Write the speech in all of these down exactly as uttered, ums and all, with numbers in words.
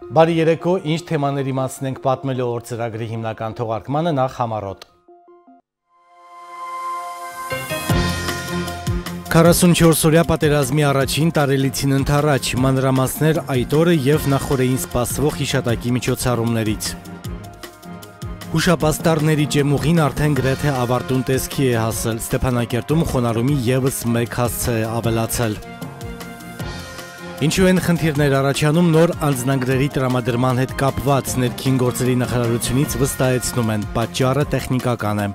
Բարի երեկո, ինչ թեմաների մասին ենք պատմելու օր ծրագրի հիմնական թողարկմանը, նախ համառոտ։ քառասունչորս-օրյա պատերազմի առաջին տարելիցին ընթառաջ, մանրամասներ այդ օրը եւ նախորդին սպասվող հիշատակի միջոցառումներից։ Հուշապաստառների ջեմուղին արդեն գրեթե ավարտուն տեսքի է հասել, Ստեփանակերտում խոնարհումի եւս մեկ հասցե է ավելացել։ Ինչու են խնդիրներ առաջանում նոր անձնագրերի տրամադրման հետ կապված, ներքին գործերի նախարարությունից վստահեցնում են, պատճառը տեխնիկական է։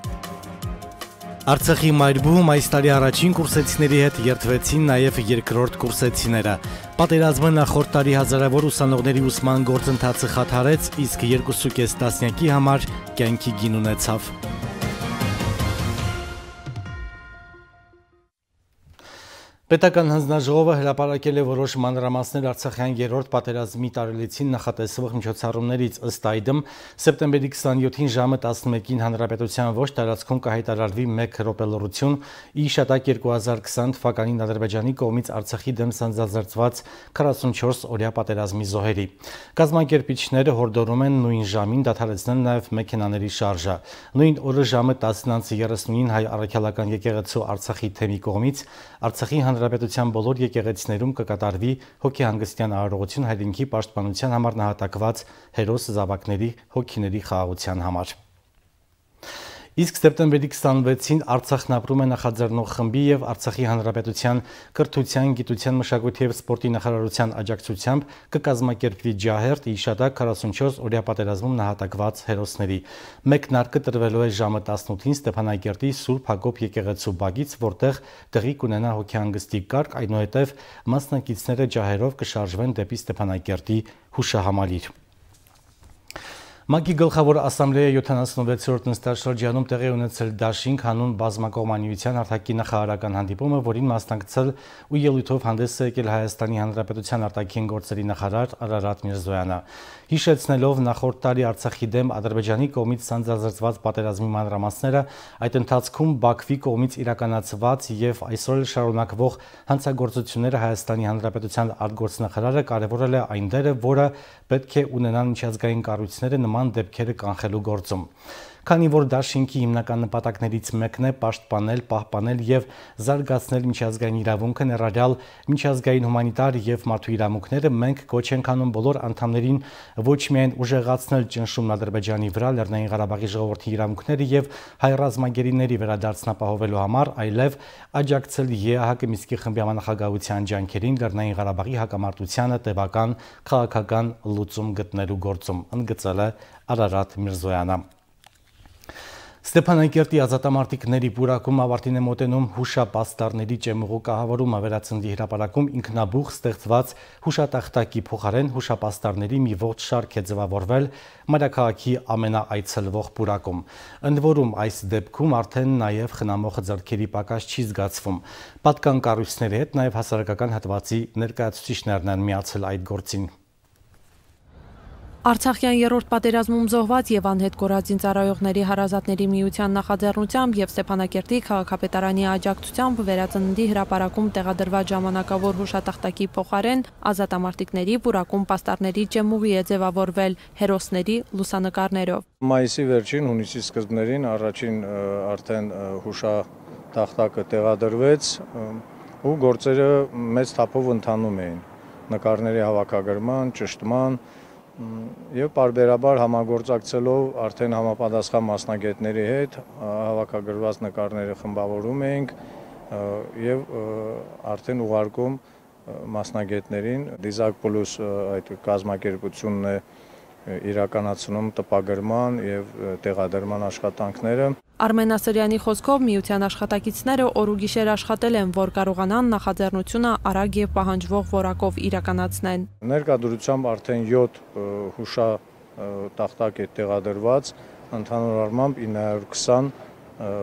Արցախի Մայրբուհում այս տարի առաջին կուրսեցիների հետ երթվեցին նաև երկրորդ կուրսեցիները։ Պատերազմը նախորդ տարի հազարավոր ուսանողների ուսման գործընթացը խաթարեց, իսկ երկուսուկես տասնյակի համար կյանքի գին ունեցավ։ Պետական հանձնաժողովը հրապարակել է որոշ մանրամասներ Արցախյան երրորդ պատերազմի տարելիցին նախատեսվող միջոցառումներից, ըստ այդմ սեպտեմբերի քսաներկուին ժամը տասնմեկին Հանրապետության ոչ տարածքում կհայտարարվի մեկ րոպե լռություն ի հիշատակ երկու հազար քսան թվականին Ադրբեջանի կողմից Արցախի դեմ սանձազերծված քառասունչորս-օրյա պատերազմի զոհերի։ Կազմակերպիչները հորդորում են նույն ժամին դադարեցնել նաև մեքենաների շարժը։ Նույն օրը ժամը տասն երեսունին հայ առաքելական եկեղեցու Արցախի թեմի կողմից Արցախի Հանրապետության բոլոր եկեղեցիներում կկատարվի հոգեհանգստյան արարողություն հայրենիքի պաշտպանության համար նահատակված հերոս զավակների հոգիների խաղաղության համար։ Իսկ սեպտեմբերի քսանվեցին Արցախն ապրում է նախաձեռնող խմբի եւ Արցախի Հանրապետության կրթության, գիտության, մշակույթի եւ սպորտի նախարարության աջակցությամբ կկազմակերպվի ջահերթ ի հիշատակ քառասունչորս-օրյա պատերազմում նահատակված հերոսների։ Մեկնարկը տրվելու է ժամը տասնութին Ստեփանակերտի Սուրբ Հակոբ եկեղեցու բակից, որտեղ տեղի կունենա հոգեհանգստի կարգ, այնուհետև մասնակիցները ջահերով կշարժվեն դեպի Ստեփանակերտի հուշահամալիր։ ՄԱԿ-ի գլխավոր ասամբլեայի յոթանասունվեցերորդ նստաշրջանում տեղի ունեցել դաշինք հանուն բազմակողմանիության արտաքին նախարարական հանդիպումը, որին մասնակցել ու ելույթով հանդես է եկել Հայաստանի Հանրապետության արտաքին գործերի նախարար Արարատ Միրզոյանը։ Հիշեցնելով նախորդ տարի Արցախի դեմ Ադրբեջանի կողմից սանձազերծված պատերազմի մանրամասները, այդ ընթացքում Բաքվի կողմից իրականացված եւ այսօր էլ շարունակվող հանցագործությունները Հայաստանի Հանրապետության արտգործնախարարը կարևորել է այն դերը, որը պետք է ունենան միջազգային կառույցները նման դեպքերը կանխելու գործում։ Քանի որ դաշինքի հիմնական նպատակներից մեկն է պաշտպանել, պահպանել եւ զարգացնել միջազգային իրավունքը, ներառյալ միջազգային հումանիտար եւ մարդու իրավունքները, մենք կոչ ենք անում բոլոր անդամներին ոչ միայն ուժեղացնել ճնշումն Ադրբեջանի վրա Լեռնային Ղարաբաղի ժողովրդի իրավունքները եւ հայ ռազմագերիների վերադարձնապահովելու համար, այլև աջակցել ԵԱՀԿ Մինսկի խմբի համանախագահության ջանքերին Լեռնային Ղարաբաղի հակամարտությանը տևական քաղաքական լուծում գտնելու գործում, ընդգծել է Արարատ Միրզոյանը։ Ստեփանակերտի ազատամարտիկների պուրակում ավարտին է մոտենում հուշապաստառների ջեմուղու կահավորումը, Վերածնդի հրապարակում ինքնաբուխ ստեղծված հուշատախտակի փոխարեն հուշապաստառների մի ողջ շարք է ձևավորվել մայրաքաղաքի ամենաայցելվող պուրակում։ Ընդ որում այս դեպքում արդեն նաև խնամող ձեռքերի պակաս չի զգացվում։ Պատկան կառույցների հետ նաև հասարակական հատվածի ներկայացուցիչներն են միացել այդ գործին։ Արցախյան երրորդ պատերազմում զոհված եւ անհետ կորած զինծառայողների հարազատների միության նախաձեռնությամբ եւ Ստեփանակերտի քաղաքապետարանի աջակցությամբ Վերածնդի հրապարակում տեղադրված ժամանակավոր հուշատախտակի փոխարեն ազատամարտիկների պուրակում պաստառների ջեմուղի է ձևավորվել հերոսների լուսանկարներով։ Մայիսի վերջին, հունիսի սկզբներին առաջին արդեն հուշատախտակը տեղադրվեց ու գործերը մեծ թափով ընթանում էին նկարների հավաքագրման, ճշտման եւ պարբերաբար համագործակցելով արդեն համապատասխան մասնագետների հետ հավաքագրված նկարները խմբավորում էինք եւ արդեն ուղարկում մասնագետներին Դիզակ Պլյուս այդ կազմակերպությունն է իրականացնում տպագրման եւ տեղադրման աշխատանքները։ Արմեն Ասրյանի խոսքով միության աշխատակիցները օր ու գիշեր աշխատել են, որ կարողանան նախաձեռնությունը արագ եւ պահանջվող որակով իրականացնեն։ Ներկայությամբ արդեն յոթ հուշատախտակ է տեղադրված, ընդհանուր առմամբ ինը հարյուր քսան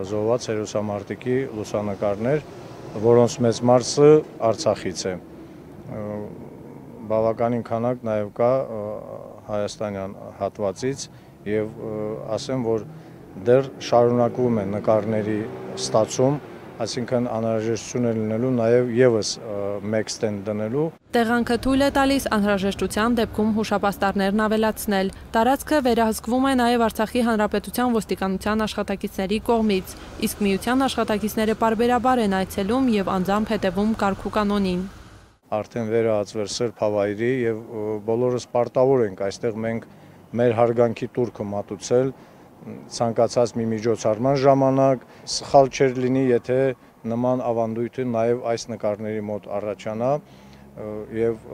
զոհված հերոսամարտիկի լուսանկարներ, որոնց մեծ մասը Արցախից է։ Բավականին քանակ նաեւ կա հայաստանյան հատվածից եւ ասեմ, որ դեռ շարունակվում է նկարների ստացում այսինքն անհրաժեշտություն է լինելու նաև եւս մեկ ստենդ դնելու։ Տեղանքը թույլ է տալիս անհրաժեշտության դեպքում հուշապաստառներն ավելացնել։ Տարածքը վերահսկվում է նաև Արցախի Հանրապետության ոստիկանության աշխատակիցների կողմից, իսկ միության աշխատակիցները պարբերաբար են այցելում եւ անձամբ հետևում կարգ ու կանոնին։ Արդեն վերահացվել Սրբ Հավայրի եւ բոլորս պարտավոր ենք այստեղ մենք մեր հարգանքի տուրքը մատուցել ցանկացած մի միջոցառման ժամանակ, սխալ չէր լինի, եթե նման ավանդույթը նաև այս նկարների մոտ առաջանա եւ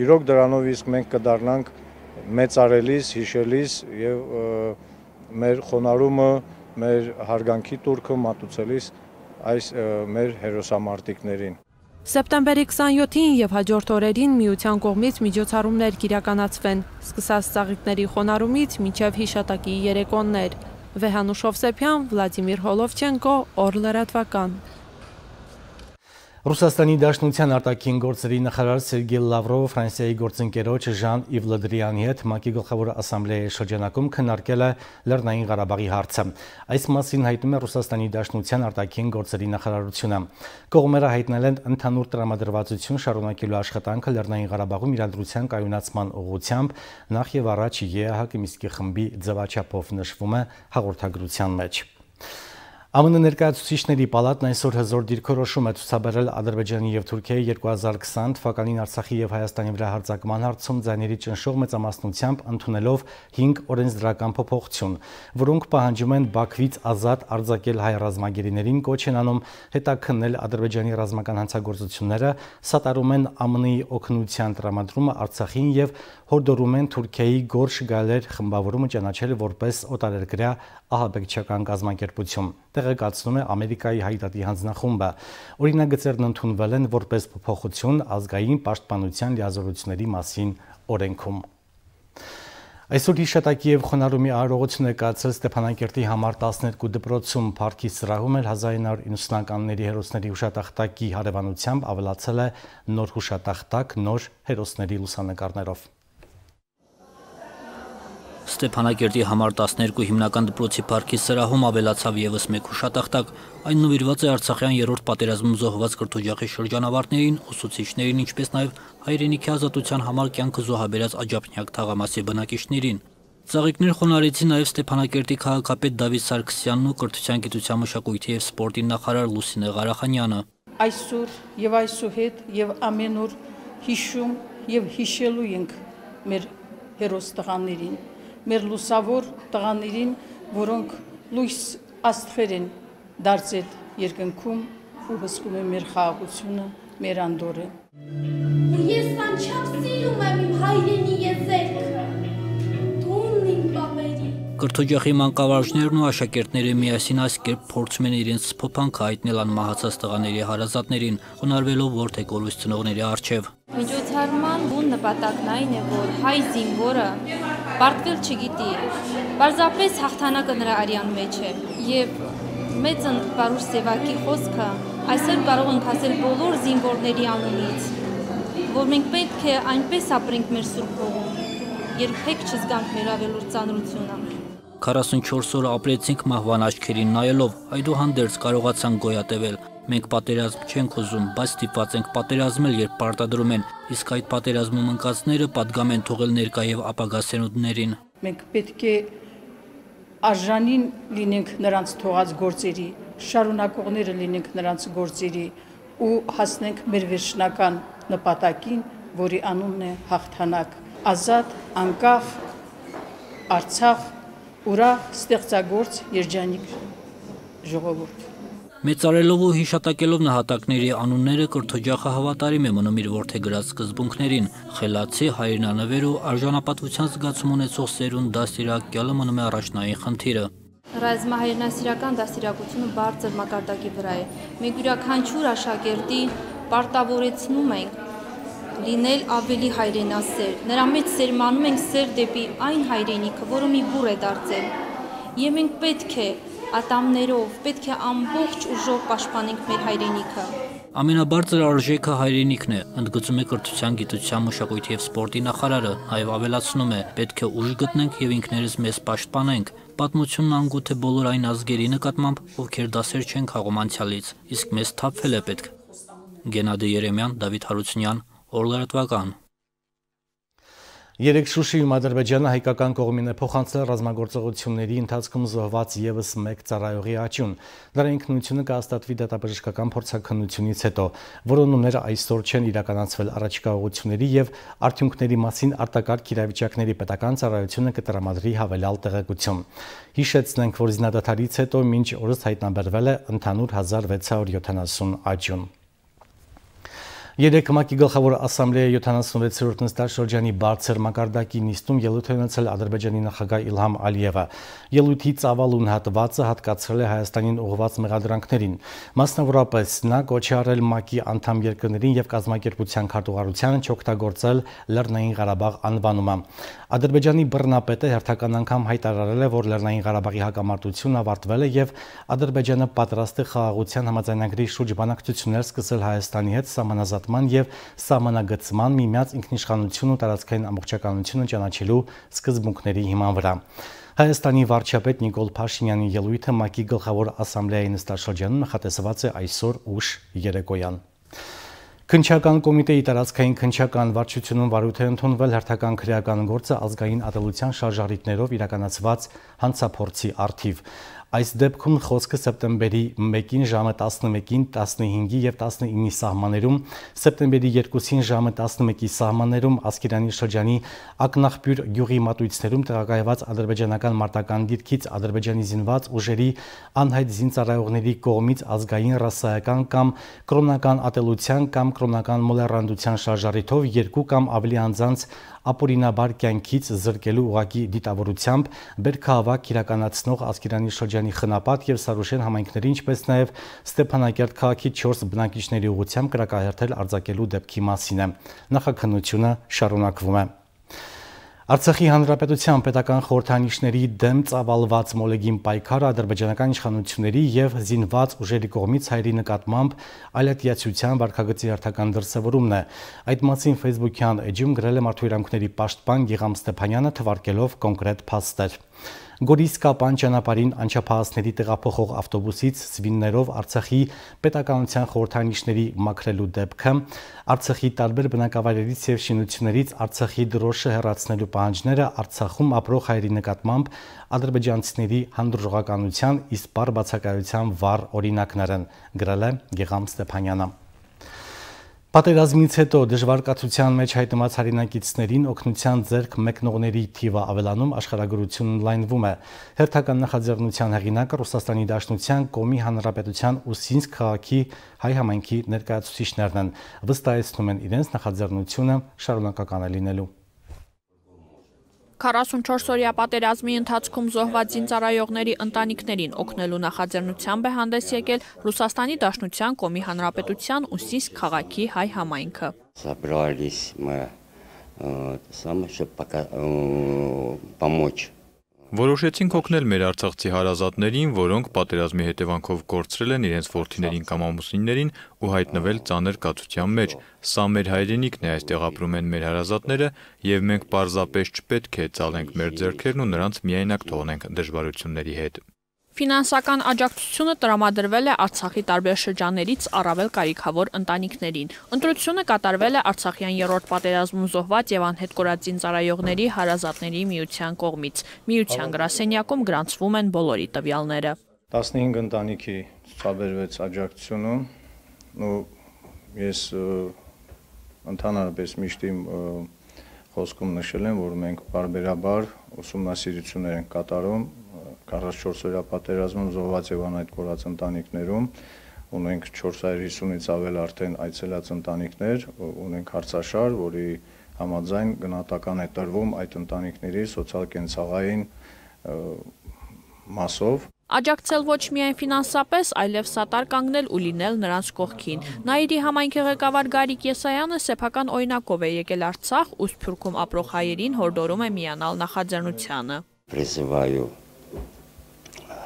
իրոք դրանով իսկ մենք կդառնանք մեծարելիս, հիշելիս եւ մեր խոնարհումը, մեր հարգանքի տուրքը մատուցելիս այս մեր հերոսամարտիկներին։ Սեպտեմբերի քսանյոթին եւ հաջորդ օրերին միության կողմից միջոցառումներ կիրականացվեն, սկսած ծաղիկների խոնարհումից մինչև հիշատակի երեկոներ։ Վեհանուշ Հովսեփյան, Վլադիմիր Հոլովչենկո, Օր լրատվական։ Ռուսաստանի Դաշնության արտաքին գործերի նախարար Սերգեյ Լավրովը Ֆրանսիայի գործընկերոջ Ժան-Իվ Լը Դրիանի հետ ՄԱԿ-ի գլխավոր ասամբլեայի շրջանակում քննարկել է Լեռնային Ղարաբաղի հարցը։ Այս մասին հայտնում է Ռուսաստանի Դաշնության արտաքին գործերի նախարարությունը։ Կողմերը հայտնել են ընդհանուր տրամադրվածություն շարունակելու աշխատանքը Լեռնային Ղարաբաղում իրադրության կայունացման ուղղությամբ, նախ եւ առաջ ԵԱՀԿ Մինսկի խմբի ձևաչափով նշվում է հաղորդագրության մեջ։ ԱՄՆ ներկայացուցիչների պալատն այսօր հզոր դիրքորոշում է ցուցաբերել Ադրբեջանի եւ Թուրքիայի երկու հազար քսան թվականին Արցախի եւ Հայաստանի վրա հարձակման հարցում ձայների ճնշող մեծամասնությամբ ընդունելով հինգ օրենսդրական փոփոխություն, որոնք պահանջում են Բաքվից ազատ արձակել հայ ռազմագերիներին, կոչ են անում հետաքննել Ադրբեջանի ռազմական հանցագործությունները, սատարում են ԱՄՆ-ի օգնության տրամադրումը Արցախին եւ հորդորում են Թուրքիայի Գորշ Գալեր խմբավորումը ճանաչել որպես օտարերկրյա ահաբեկչական կազմակերպություն։ Տեղեկացնում է Ամերիկայի հայդատի հանձնախումբը։ Օրինագծերն ընդունվել են որպես փոփոխություն ազգային պաշտպանության լիազորությունների մասին օրենքում։ Այսօր հիշատակի եւ խոնարհումի արարողություն է կայացել Ստեփանակերտի համար տասներկու դպրոցում, Փառքի սրահում էլ հազար ինը հարյուր իննսունականների հերոսների հուշատախտակի հարևանությամբ ավելացել է նոր հուշատախտակ նոր հերոսների լուսանկարներով։ Ստեփանակերտի համար տասներկու հիմնական դպրոցի Փառքի սրահում ավելացավ եւս մեկ հուշատախտակ։ Այն նվիրված է Արցախյան երրորդ պատերազմում զոհված կրթօջախի շրջանավարտներին, ուսուցիչներին, ինչպես նաեւ հայրենիքի ազատության համար կյանքը զոհաբերած Աջափնյակ թաղամասի բնակիչներին։ Ծաղիկներ խոնարհեցին նաեւ Ստեփանակերտի քաղաքապետ Դավիթ Սարգսյանն ու կրթության, գիտության, մշակույթի եւ սպորտի նախարար Լուսինե Ղարախանյանը։ Այսօր եւ այսուհետ եւ ամեն օր հիշում եւ հիշելու ենք մեր հերոս տղաներին, մեր լուսավոր տղաներին, որոնք լույս աստղեր են դարձել երկնքում ու հսկում են մեր խաղաղությունը, մեր անդորը։ Ես անչափ սիրում եմ իմ հայրենի եզերքը, տունն իմ պապերի։ Կրթօջախի մանկավարժներն ու աշակերտները միասին այս կերպ փորձում են իրենց սփոփանքը հայտնել անմահացած տղաների հարազատներին, խոնարհվելով որդեգորույս ծնողների առջև։ Միջոցառման բուն նպատակն այն է, որ հայ զինվորը պարտվել չգիտի, պարզապես հաղթանակը նրա արյան մեջ է եւ մեծ պարուր Սևակի խոսքը այսօր կարող ենք ասել բոլոր զինվորների անունից, որ մենք պետք է այնպես ապրենք մեր սուրբ հողում, երբեք չզգանք մեր ավելորդ ծանրությունը։ քառասունչորս օր ապրեցինք մահվան աչքերին նայելով, այդուհանդերձ կարողացանք գոյատևել։ Մենք պատերազմ չենք ուզում, բայց ստիպված ենք պատերազմել, երբ պարտադրում են, իսկ այդ պատերազմում ընկածները պատգամ են թողել ներկա եւ ապագա սերունդներին։ Մենք պետք է արժանին լինենք նրանց թողած գործերի, շարունակողները լինենք նրանց գործերի ու հասնենք մեր վերջնական նպատակին, որի անունն է հաղթանակ, ազատ, անկախ Արցախ, ուրախ, ստեղծագործ, երջանիկ ժողովուրդ։ Մեծարելով ու հիշատակելով նահատակների անունները կրթօջախը հավատարիմ է մնում իր որդեգրած սկզբունքներին, խելացի, հայրենանվեր ու արժանապատվության զգացում ունեցող սերունդ դաստիարակյալը մնում է առաջնային խնդիրը։ Ռազմահայրենասիրական դաստիարակությունը բարձր մակարդակի վրա է։ Մենք յուրաքանչյուր աշակերտի պարտավորեցնում ենք լինել ավելի հայրենասեր։ Նրա մեջ սերմանում ենք սեր դեպի այն հայրենիքը, որը մի բուր է դարձել։ Եվ մենք պետք է ատամներով, պետք է ամբողջ ուժով պաշտպանենք մեր հայրենիքը։ Ամենաբարձր արժեքը հայրենիքն է, ընդգծում է կրթության, գիտության, մշակույթի և սպորտի նախարարը, նաև ավելացնում է, պետք է ուժ գտնենք և ինքներս մեզ պաշտպանենք։ Պատմությունն անգութ է բոլոր այն ազգերի նկատմամբ, ովքեր դասեր չեն քաղում անցյալից, իսկ մեզ թափվել է պետք։ Գենադի Երեմյան, Դավիթ Հարությունյան, Օրլրատվական։ Երեկ Շուշիում Ադրբեջանը հայկական կողմին է փոխանցել ռազմագործողությունների ընթացքում զոհված ևս մեկ ծառայողի աճյուն։ Դրա ինքնությունը կհաստատվի դատաբժշկական փորձաքննությունից հետո, որոնումները այսօր չեն իրականացվել առաջիկա ուղղությունների եւ արդյունքների մասին արտակարգ իրավիճակների պետական ծառայությունը կտրամադրի հավելյալ տեղեկություն։ Հիշեցնենք, որ զինադադարից հետո մինչ օրս հայտնաբերվել է ընդհանուր հազար վեց հարյուր յոթանասուն աճյուն։ Երեկ ՄԱԿ-ի գլխավոր ասամբլեայի յոթանասունվեցերորդ նստաշրջանի բարձր մակարդակի նիստում ելույթ է ունեցել Ադրբեջանի նախագահ Իլհամ Ալիևը։ Ելույթի ծավալուն հատվածը հատկացրել է Հայաստանին ուղղված մեղադրանքներին։ Մասնավորապես նա կոչ է արել ՄԱԿ-ի անդամ երկրներին եւ կազմակերպության քարտուղարությանը չօգտագործել Լեռնային Ղարաբաղ անվանումը։ Ադրբեջանի բռնապետը հերթական անգամ հայտարարել է, որ Լեռնային Ղարաբաղի հակամարտությունն ավարտվել է եւ Ադրբեջանը պատրաստ է խաղաղության համաձայնագրի շուրջ բանակցություններ սկսել Հայաստանի հետ սահմանազատման եւ սահմանագծման, միմյանց ինքնիշխանություն ու տարածքային ամբողջականությունը ճանաչելու սկզբունքների հիման վրա։ Հայաստանի վարչապետ Նիկոլ Փաշինյանի ելույթը ՄԱԿ-ի գլխավոր ասամբլեայի նստաշրջանում նախատեսված է այսօր ուշ երեկոյան։ Քննչական կոմիտեի տարածքային քննչական վարչությունում վարույթ է ընդունվել հերթական քրեական գործը ազգային ատելության շարժառիթներով իրականացված հանցափորձի առթիվ։ Այս դեպքում խոսքը սեպտեմբերի մեկին ժամը տասնմեկին, տասնհինգի եւ տասնինի սահմաններում, սեպտեմբերի երկուսին ժամը տասնմեկի սահմաններում Ասկերանի շրջանի Ակնախբյուր գյուղի մատույցներում տեղակայված ադրբեջանական մարտական դիրքից Ադրբեջանի զինված ուժերի անհայտ զինծառայողների կողմից ազգային, ռասայական կամ կրոնական ատելության կամ կրոնական մոլեռանդության շարժառիթով երկու կամ ավելի անձանց ապօրինաբար կյանքից զրկելու ուղղակի դիտավորությամբ բերքահավաք իրականացնող Ասկերանի շրջանի Խնապատ եւ Սարուշեն համայնքների, ինչպես նաեւ Ստեփանակերտ քաղաքի չորս բնակիչների ուղղությամբ կրակահերթել արձակելու դեպքի մասին է։ Նախաքննությունը շարունակվում է։ Արցախի հանրապետության պետական խորհրդանիշների դեմ ծավալված մոլեգին պայքարը ադրբեջանական իշխանությունների եւ զինված ուժերի կողմից հայերի նկատմամբ այլատիացության վարքագծի հերթական դրսևորումն է։ Այդ մասին Facebook-յան էջում գրել է Մարդու իրավունքների պաշտպան Գիգամ Ստեփանյանը, թվարկելով կոնկրետ փաստեր։ Գորիս-Կապան ճանապարհին անչափահասների տեղափոխող ավտոբուսից սվիններով Արցախի պետականության խորհրդանիշների մաքրելու դեպքը, Արցախի տարբեր բնակավայրերից եւ շինություններից Արցախի դրոշը հեռացնելու պահանջները Արցախում ապրող հայերի նկատմամբ ադրբեջանցիների հանդուրժողականության իսպառ բացակայության վառ օրինակներ են, գրել է Գիգամ Ստեփանյանը։ Պատերազմից հետո դժվար կացության մեջ հայտնված հայրենակիցներին օգնության ձեռք մեկնողների թիվը ավելանում, աշխարհագրությունն ընդլայնվում է։ Հերթական նախաձեռնության հեղինակը Ռուսաստանի Դաշնության Կոմի Հանրապետության Ուսինսկ քաղաքի հայ համայնքի ներկայացուցիչներն են, վստահեցնում են իրենց նախաձեռնությունը շարունակական է լինելու։ քառասունչորս-օրյա պատերազմի ընթացքում զոհված զինծառայողների ընտանիքներին օգնելու նախաձեռնությամբ է հանդես եկել Ռուսաստանի Դաշնության Կոմի Հանրապետության Ուսինսկ քաղաքի հայ համայնքը։ Собрались мы самое, чтобы пока помочь. Որոշեցինք օգնել մեր արցախցի հարազատներին, որոնք պատերազմի հետևանքով կորցրել են իրենց որդիներին կամ ամուսիններին ու հայտնվել ծանր կացության մեջ։ Սա մեր հայրենիքն է, այստեղ ապրում են մեր հարազատները եւ մենք պարզապես չպետք է ծալենք մեր ձեռքերն ու նրանց միայնակ թողնենք դժվարությունների հետ։ Ֆինանսական աջակցությունը տրամադրվել է Արցախի տարբեր շրջաններից առավել կարիքավոր ընտանիքներին։ Ընտրությունը կատարվել է Արցախյան երրորդ պատերազմում զոհված եւ անհետ կորած զինծառայողների հարազատների միության կողմից։ Միության գրասենյակում գրանցվում են բոլորի տվյալները։ տասնհինգ ընտանիքի ցուցաբերվեց աջակցությունը, ու ես ընդհանրապես միշտ իմ խոսքում նշել եմ, որ մենք բարբերաբար ուսումնասիրություններ ենք կատարում քառասունչորս-օրյա պատերազմում զոհված եւ անհայտ կորած ընտանիքներում, ունենք չորս հարյուր հիսունից ավել արդեն այցելած ընտանիքներ, ունենք հարցաշար, որի համաձայն գնահատական է տրվում այդ ընտանիքների սոցիալ-կենցաղային մասով։ Աջակցել ոչ միայն ֆինանսապես, այլև սատար կանգնել ու լինել նրանց կողքին։ Նաիրի համայնքի ղեկավար Գարիկ Եսայանը սեփական օրինակով է եկել Արցախ ու Սփյուռքում ապրող հայերին հորդորում է միանալ նախաձեռնությանը։ Призываю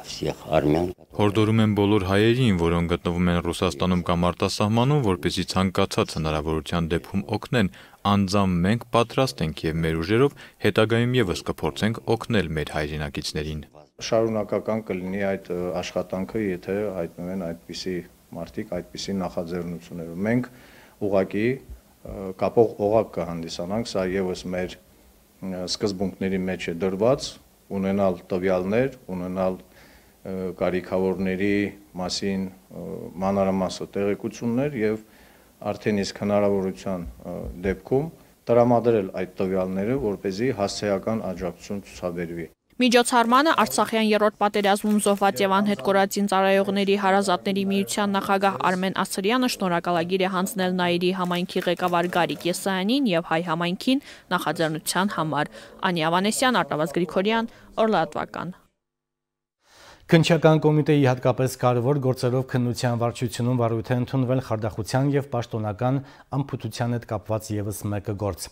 всех армян. Հորդորում են բոլոր հայերին, որոնք գտնվում են Ռուսաստանում կամ արտասահմանում, որպեսզի ցանկացած հնարավորության դեպքում օգնեն, անձամբ մենք պատրաստ ենք եւ մեր ուժերով հետագայում եւս կփորձենք օգնել մեր հայրենակիցներին։ Շարունակական կլինի այդ աշխատանքը, եթե հայտնվեն այդպիսի մարդիկ, այդպիսի նախաձեռնություններով։ Մենք ուղղակի կապող օղակ կհանդիսանանք, սա եւս մեր սկզբունքների մեջ է դրված, ունենալ տվյալներ, ունենալ կարիքավորների մասին մանրամասը տեղեկություններ եւ արդեն իսկ հնարավորության դեպքում տրամադրել այդ տվյալները, որպեսզի հասցեական աջակցություն ցուցաբերվի։ Միջոցառմանը Արցախյան երրորդ պատերազմում զոհված եւ անհետ կորածին ծառայողների հարազատների միության նախագահ Արմեն Ասրյանը շնորհակալագիր է հանձնել Նաիրի համայնքի ղեկավար Գարիկ Եսայանին եւ հայ համայնքին նախաձեռնության համար։ Անի Ավանեսյան, Արտավազ Գրիգորյան, Օրլատվական։ Քննչական կոմիտեի հատկապես կարևոր գործերով քննության վարչությունում վարույթ է ընդունվել խարդախության եւ պաշտոնական անփութության հետ կապված եւս մեկ գործ։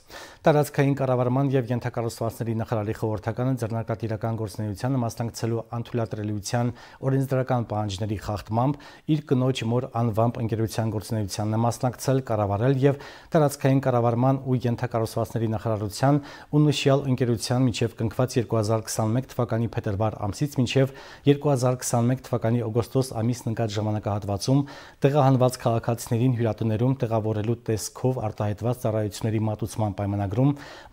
Տարածքային կառավարման եւ ենթակառուցվածքների նախարարի խորհրդականը ձեռնարկատիրական գործունեությանը մասնակցելու անթույլատրելիության օրենսդրական պահանջների խախտմամբ իր կնոջ մոր անվամբ ընկերության գործունեությանն է մասնակցել, կառավարել եւ տարածքային կառավարման ու ենթակառուցվածքների նախարարության ու նշյալ ընկերության միջև կնքված երկու հազար քսաներկու թվականի փետրվար ամսից մինչեւ երկու հազար քսաներկու թվականի օգոստոս ամիսն ընկած ժամանակահատվածում տեղահանված քաղաքացիներին հյուրատներում տեղավորելու տեսքով արտահայտված ծառայությունների մատուցման պայմանագրում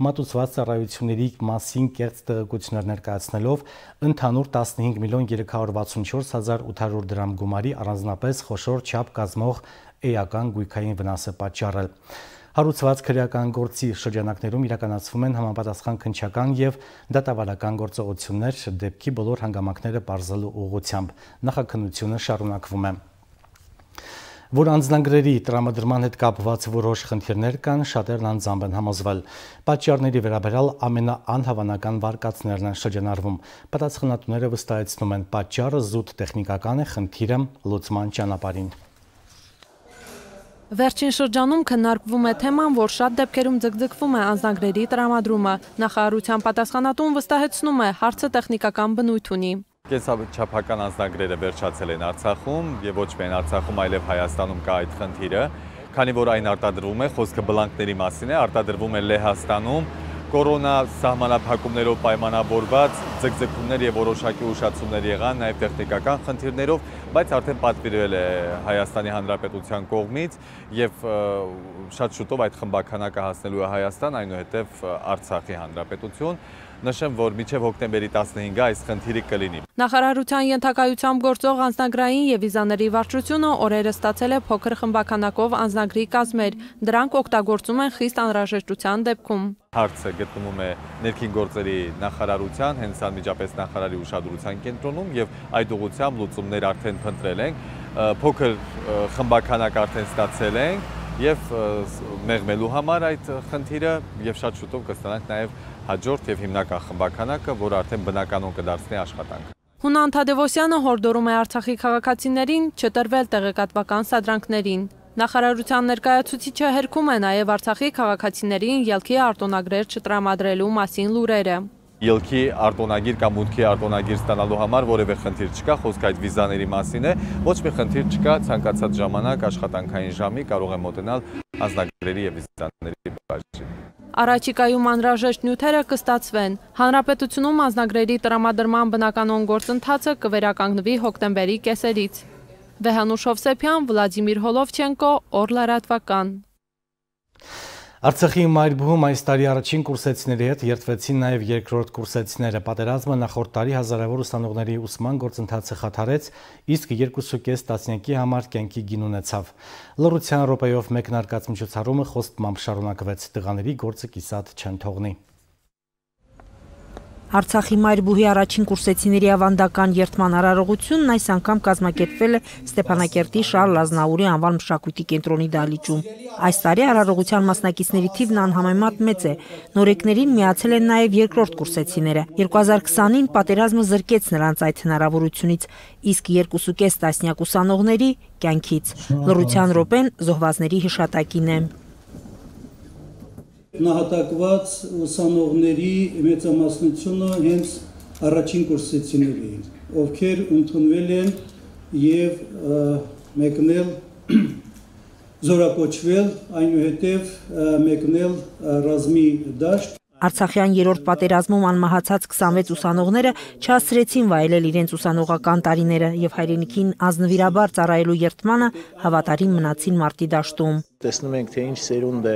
մատուցված ծառայությունների մասին կեղծ տեղեկություններ ներկայացնելով ընդհանուր տասնհինգ միլիոն երեք հարյուր վաթսունչորս հազար ութ հարյուր դրամ գումարի առանձնապես խոշոր չափ կազմող էական գույքային վնաս է պատճառել։ Հարուցված քրեական գործի շրջանակներում իրականացվում են համապատասխան քննչական եւ դատավարական գործողություններ դեպքի բոլոր հանգամանքները բարձրելու ուղղությամբ։ Նախաքննությունը շարունակվում է։ Որ անձնագրերի տրամադրման հետ կապված որոշ խնդիրներ կան, շատերն անձամբ են համոզվել։ Պատճառների վերաբերյալ ամենաանհավանական վարկածներն են շրջանառվում։ Պատասխանատուները վստահեցնում են, պատճառը զուտ տեխնիկական է, խնդիրը լուծման ճանապարհին։ Վերջին շրջանում քննարկվում է թեման, որ շատ դեպքերում ձգձգվում է անձնագրերի տրամադրումը։ Նախարարության պատասխանատուն վստահեցնում է, հարցը տեխնիկական բնույթ ունի։ Կենսաչափական անձնագրերը վերջացել են Արցախում եւ ոչ միայն Արցախում, այլև Հայաստանում կա այդ խնդիրը, քանի որ այն արտադրվում է, խոսքը բլանկների մասին է, արտադրվում է Լեհաստանում, կորոնա սահմանափակումներով պայմանավորված ձգձգումներ եւ որոշակի ուշացումներ եղան, նաեւ տեխնիկական խնդիրներով, բայց արդեն պատվիրվել է Հայաստանի Հանրապետության կողմից եւ շատ շուտով այդ խմբականակը հասնելու է Հայաստան, այնուհետեւ Արցախի Հանրապետություն։ Նշեմ, որ մինչև հոկտեմբերի տասնհինգը այս խնդիրը կլինի։ Նախարարության ենթակայությամբ գործող անձնագրային եւ վիզաների վարչությունը օրերս ստացել է փոքր խմբականակով անձնագրի կազմեր։ Դրանք օգտագործում են խիստ անհրաժեշտության դեպքում։ Հարցը գտնվում է ներքին գործերի նախարարության, հենց անմիջապես նախարարի ուշադրության կենտրոնում եւ այդ ուղղությամբ լուծումներ արդեն փնտրել ենք, փոքր խմբականակ արդեն ստացել ենք եւ մեղմելու համար այդ խնդիրը եւ շատ շուտով կստանանք նաեւ հաջորդ եւ հիմնական խմբականակը, որ արդեն բնականon կդարձնի աշխատանքը։ Հունան Թադևոսյանը հորդորում է Արցախի քաղաքացիներին չտրվել տեղեկատվական սադրանքներին։ Նախարարության ներկայացուցիչը հերքում է նաև Արցախի քաղաքացիներին ելքի արտոնագրեր չտրամադրելու մասին լուրերը։ Ելքի արտոնագիր կամ մուտքի արտոնագիր ստանալու համար որևէ խնդիր չկա, խոսքը այդ վիզաների մասին է, ոչ մի խնդիր չկա, ցանկացած ժամանակ աշխատանքային ժամի կարող է մոտենալ անձնագրերի եւ վիզաների բաժին։ Առաջիկայում անհրաժեշտ նյութերը կստացվեն։ Հանրապետությունում անձնագրերի տրամադրման բնականon գործընթացը կվերականգնվի հոկտեմբերի կեսերից։ Վեհանուշ Հովսեփյան, Վլադիմիր Հոլովչենկո, Օրլարատվական։ Արցախի մայրբուհում այս տարի առաջին կուրսեցիների հետ երթվեցին նաև երկրորդ կուրսեցիները։ Պատերազմը նախորդ տարի հազարավոր ուսանողների ուսման գործընթացը խաթարեց, իսկ երկուսուկես տասնյակի համար կյանքի գին ունեցավ։ Լռության րոպեով մեկնարկած միջոցառումը խոստմամբ շարունակվեց, տղաների գործը կիսատ չեն թողնի։ Արցախի մայրբուհի առաջին կուրսեցիների ավանդական երթման արարողությունն այս անգամ կազմակերպվել է Ստեփանակերտի Շարլ Ազնաուրի անվան մշակույթի կենտրոնի դահլիճում։ Այս տարի արարողության մասնակիցների թիվն անհամեմատ մեծ է։ Նորեկներին միացել են նաև երկրորդ կուրսեցիները։ երկու հազար քսանին պատերազմը զրկեց նրանց այդ հնարավորությունից, իսկ երկուսուկես տասնյակ ուսանողների կյանքից։ Լռության րոպեն զոհվածների հիշատակին է։ Նահատակված ուսանողների մեծամասնությունը հենց առաջին կուրսեցիներ էին։ ովքեր ընդունվել են եւ մեկնել զորակոչվել, այնուհետև մեկնել ռազմի դաշտ։ Արցախյան երրորդ պատերազմում անմահացած քսանվեց ուսանողները չհասցրեցին վայելել իրենց ուսանողական տարիները եւ հայրենիքին ազնվիրաբար ծառայելու երդմանը հավատարիմ մնացին մարտի դաշտում։ Տեսնում ենք, թե ինչ սերունդ է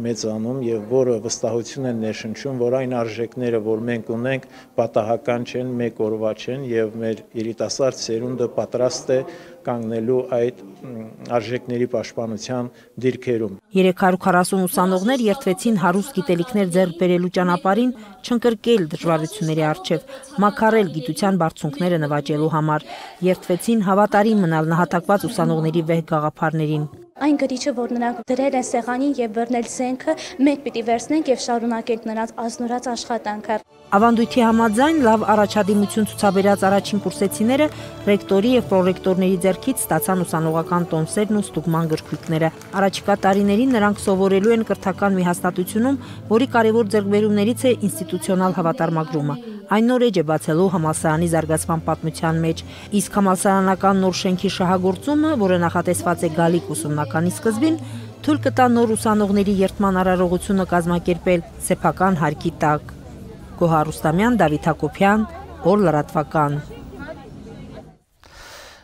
մեծանում եւ որը վստահություն են ներշնչում, որ այն արժեքները, որ մենք ունենք, պատահական չեն, մեկ օրվա չեն եւ մեր երիտասարդ սերունդը պատրաստ է կանգնելու այդ արժեքների պաշտպանության դիրքերում։ երեք հարյուր քառասուն ուսանողներ երդվեցին հարուստ գիտելիքներ ձեռք բերելու ճանապարհին, չընկրկել դժվարությունների առջև, մաքարել գիտության բարձունքները նվաճելու համար, երդվեցին հավատարիմ մնալ նահատակված ուսանողների վեհ գաղափարներին։ Այն գրիչը, որ նրանք դրել են սեղանին եւ բռնել զենքը, մենք պիտի վերցնենք եւ շարունակենք նրանց ազնորած աշխատանքը։ Ավանդույթի համաձայն լավ առաջադիմություն ցուցաբերած առաջին կուրսեցիները ռեկտորի եւ պրոռեկտորների ձեռքից ստացան ուսանողական տոմսերն ու ստուգման գրքույկները։ Առաջիկա տարիներին նրանք սովորելու են կրթական մի հաստատությունում, որի կարևոր ձեռքբերումներից է ինստիտուցիոնալ հավատարմագրումը։ Այն նոր էջ է բացելու համալսարանի զարգացման պատմության մեջ, իսկ համալսարանական նոր շենքի շահագործումը, որը նախատեսված է գալիք ուսումնականի սկզբին, թույլ կտա նոր ուսանողների երդման արարողությունը կազմակերպել սեփական հարկի տակ։ Գոհար Ռուստամյան, Դավիթ Հակոբյան, օր լրատվական։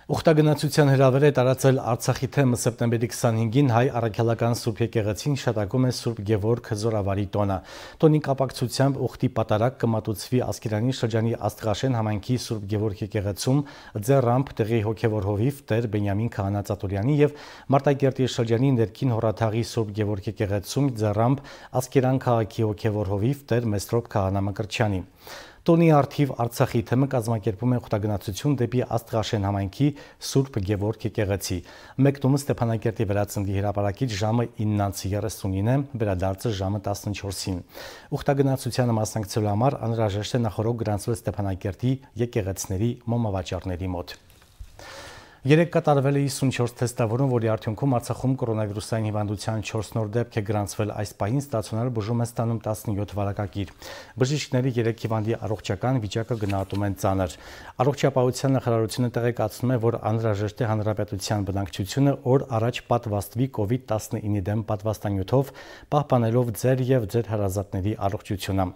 Ուխտագնացության հրավեր է տարածել Արցախի թեմը սեպտեմբերի քսանհինգին հայ առաքելական Սուրբ եկեղեցին հիշատակում է Սուրբ Գևորգ Զորավարի տոնը։ Տոնի կապակցությամբ ուխտի պատարակ կմատուցվի Ասկերանի շրջանի Աստղաշեն համայնքի Սուրբ Գևորգ եկեղեցում, ձեռամբ տեղի հոգևոր հովիվ Տեր Բենյամին Քահանա Ծատուրյանի եւ Մարտակերտի շրջանի ներքին հորաթաղի Սուրբ Գևորգ եկեղեցում ձեռամբ Ասկերան քաղաքի հոգևոր հովիվ Տեր Մեսրոպ Քահանա Մկրտչյանի։ Տոնի արդիվ Արցախի թեմը կազմակերպում է ուխտագնացություն դեպի Աստղաշեն համայնքի Սուրբ Գևորգ եկեղեցի։ Մեկնումը Ստեփանակերտի վերածնդի հրապարակից ժամը իննից երեսունին է, վերադարձը ժամը տասնչորսին։ Ուխտագնացությանը մասնակցելու համար անհրաժեշտ է նախորդ գրանցվել Ստեփանակերտի եկեղեցիների մոմավաճառների մոտ։ Երեկ կատարվել է հիսունչորս թեստավորում, որի արդյունքում Արցախում կորոնավիրուսային հիվանդության չորս նոր դեպք է գրանցվել, այս պահին ստացիոնար բուժում է ստանում տասնյոթ վարակագիր։ Բժիշկները երեք հիվանդի առողջական վիճակը գնահատում են ծանր։ Առողջապահության նախարարությունը տեղեկացնում է, որ անհրաժեշտ է հանրապետության բնակչությունը օր առաջ պատվաստվի կովիդ տասնինի դեմ պատվաստանյութով, պահպանելով ձեր եւ ձեր հարազատների առողջությունը։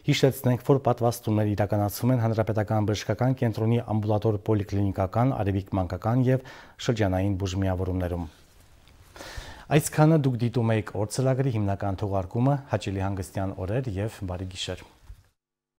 Հիշեցնենք, որ պատվաստումներ իրականացվում են Հանրապետական բժշկական կենտրոնի ամբուլատոր պոլիկլինիկական, արևիկ մանկական եւ շրջանային բուժմիավորումներում։ Այսքանը դուք դիտում եք օր ծրագրի հիմնական թողարկումը, հաճելի հանգստյան օրեր եւ բարի գիշեր։